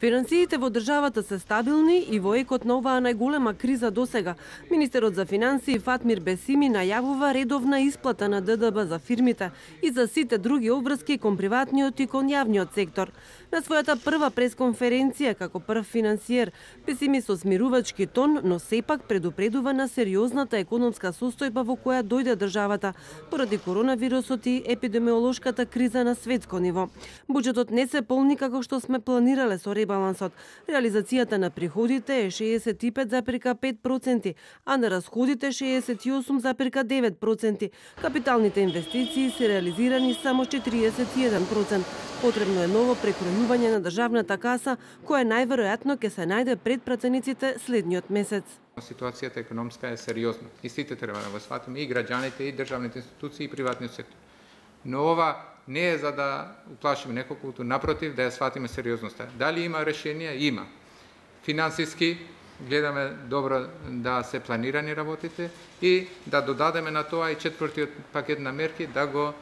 Финансиите во државата се стабилни и во екот на оваа најголема криза досега. Министерот за финансии Фатмир Бесими најавува редовна исплата на ДДБ за фирмите и за сите други обврски кон приватниот и кон јавниот сектор. На својата прва пресконференција како прв финансиер, Бесими со смирувачки тон, но сепак предупредува на сериозната економска состојба во која дојде државата поради коронавирусот и епидемиолошката криза на светско ниво. Буџетот не се полни како што сме планирале со ребалансот. Реализацијата на приходите е 65,5%, а на расходите 68,9%. Капиталните инвестиции се реализирани само 41%. Потребно е ново прекројување на државната каса, која најверојатно ќе се најде пред пратениците следниот месец. Ситуацијата економска е сериозна и сите треба да го сватиме, и граѓаните, и државните институции, и приватниот сектор. Но ова не е за да уплашиме неколку, напротив, да ја сватиме сериозноста. Дали има решенија? Има. Финансиски гледаме добро да се планирани работите и да додадеме на тоа и четвртиот пакет на мерки, да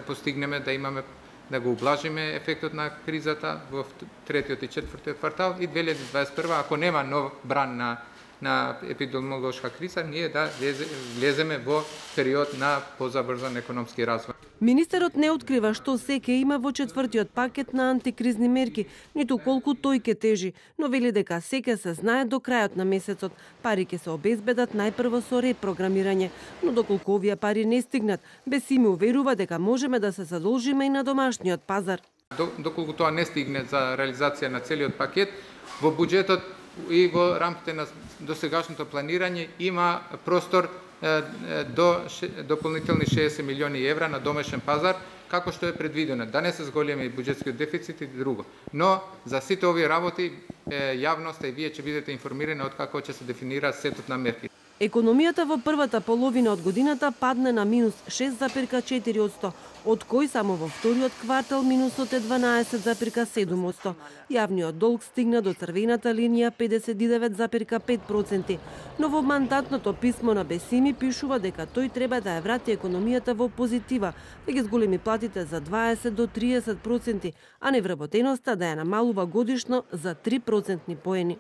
постигнеме, да имаме, да го ублажиме ефектот на кризата во третиот и четвртиот квартал и 2021, ако нема нов бран на епидемиолошка криза, ние да влеземе во период на позабрзан економски развој. Министерот не открива што се ќе има во четвртиот пакет на антикризни мерки, ниту колку тој ќе тежи, но вели дека се ќе се знае до крајот на месецот. Пари ќе се обезбедат најпрво со репрограмирање, но доколку овие пари не стигнат, Бесими уверува дека можеме да се задолжиме и на домашниот пазар. Доколку тоа не стигне за реализација на целиот пакет, во буџетот и во рамките на досегашното планирање има простор до дополнителни 60 милиони евра на домашен пазар, како што е предвидено, да не се зголеми и буџетскиот дефицит и друго. Но за сите овие работи јавноста и вие ќе бидете информирани од како ќе се дефинира сетот на мерки. Економијата во првата половина од годината падне на минус 6,4%, од кој само во вториот квартал минусот е 12,7%. Јавниот долг стигна до црвената линија 59,5%. Но во мандатното писмо на Бесими пишува дека тој треба да ја врати економијата во позитива, да ги зголеми платите за 20 до 30%, а невработеноста да ја намалува годишно за 3% поени.